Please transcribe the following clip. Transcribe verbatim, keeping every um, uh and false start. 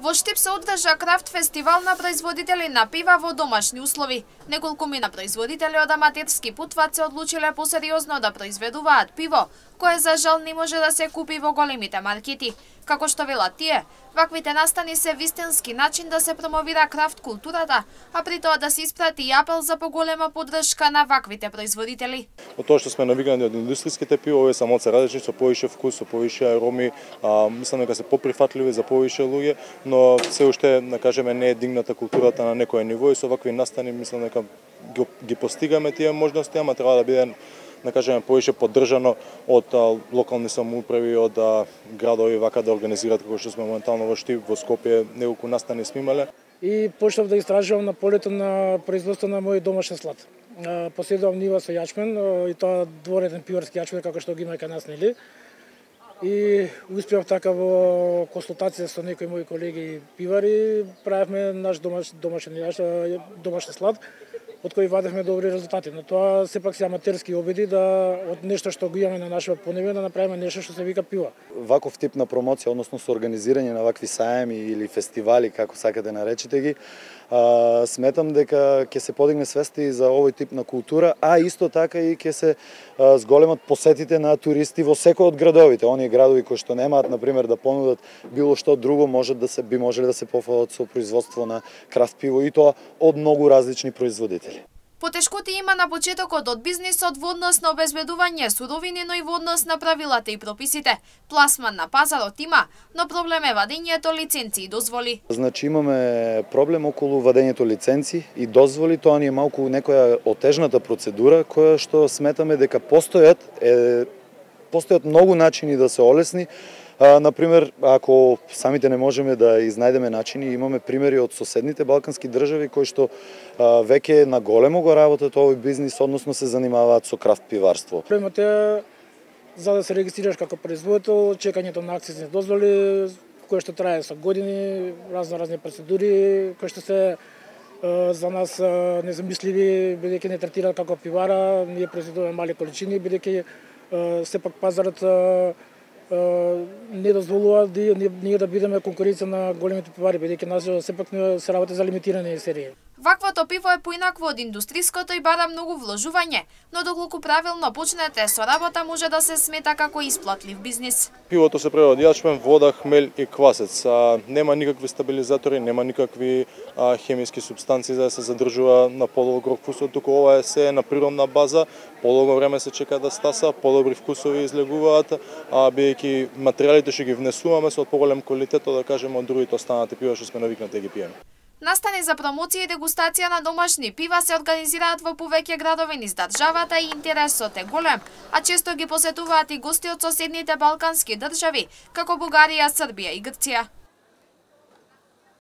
Во Штип се одржа крафт фестивал на производители на пива во домашни услови. Неколкумина производители од аматерски путват се одлучиле посериозно да произведуваат пиво, кое за жал не може да се купи во големите маркети. Како што велат тие, ваквите настани се вистински начин да се промовира крафт културата, а при тоа да се испрати и апел за поголема поддршка на ваквите производители. Од тоа што сме навикнати од индустријските пиво, овие се малце различни, со повише вкус, со повише ароми, а, мислам дека се поприфатливи за повише луѓе, но се уште, да кажеме, не е дигната културата на некое ниво и со вакви настани мислам дека ги, ги постигаме тие можности, ама треба да биде, да кажеме, повише поддржано од а, локални самоуправи, од а, градови вака да организираат како што сме моментално во Штип, во Скопје, неколку настани сме имале. И почнав да истражувам на полето на производство на мој домашен слад. Поседувам нива со јачмен, и тоа двореден пиварски јачмен како што ги има кај нас, нели? И успеав така во консултација со некои мои колеги пивари, правевме наш домаш, домашен јачмен, домашен слад, од кој вадевме добри резултати. Но тоа сепак се аматерски обиди да од нешто што го имаме на нашето поневе да направиме нешто што се вика пиво. Ваков тип на промоција, односно со организирање на вакви саеми или фестивали, како сакате наречете ги, а, сметам дека ќе се подигне свеста и за овој тип на култура, а исто така и ќе се а, зголемат посетите на туристи во секој од градовите. Оние градови кои што немаат, на пример, да понудат било што друго, може да се би можеле да се пофалат со производство на крафт пиво и тоа од многу различни производители. Потешкоти има на почетокот од бизнисот во однос на обезбедување суровини, но и во однос на правилата и прописите. Пласман на пазарот има, но проблем е вадењето лиценци и дозволи. Значи имаме проблем околу вадењето лиценци и дозволи, тоа ни е малку некоја отежната процедура која што сметаме дека постојат е постојат многу начини да се олесни. А, например, ако самите не можеме да изнајдеме начини, имаме примери од соседните балкански држави кои што а, веќе на големо го работат овој бизнис, односно се занимаваат со крафт пиварство. Проблемот е за да се регистрираш како производител, чекањето на акцизни дозволи, кое што трае со години, разно разни процедури, кои што се а, за нас а, незамисливи, бидејќи не третираат како пивара, ние произведуваме мали количини, бидејќи сепак пазарот а, не дозволува да ние да бидеме конкуренција на големите пивари, бидејќи нас сепак се работи за лимитирани серии. Ваквото пиво е поинакво од индустриското и бара многу вложување, но доколку правилно почнете со работа може да се смета како исплатлив бизнис. Пивото се прави од јачмен, вода, хмел и квасец. А, нема никакви стабилизатори, нема никакви а, хемиски супстанции за да се задржува на подолго вкусот, туку ова е се на природна база, подолго време се чека да стаса, подобри вкусови излегуваат, а бидејќи материјалите што ги внесуваме се од поголем квалитет, да кажеме од другите останати пива што сме навикнати да ги пиеме. Настани за промоција и дегустација на домашни пива се организираат во повеќе градови низ државата и интересот е голем, а често ги посетуваат и гости од соседните балкански држави, како Бугарија, Србија и Грција.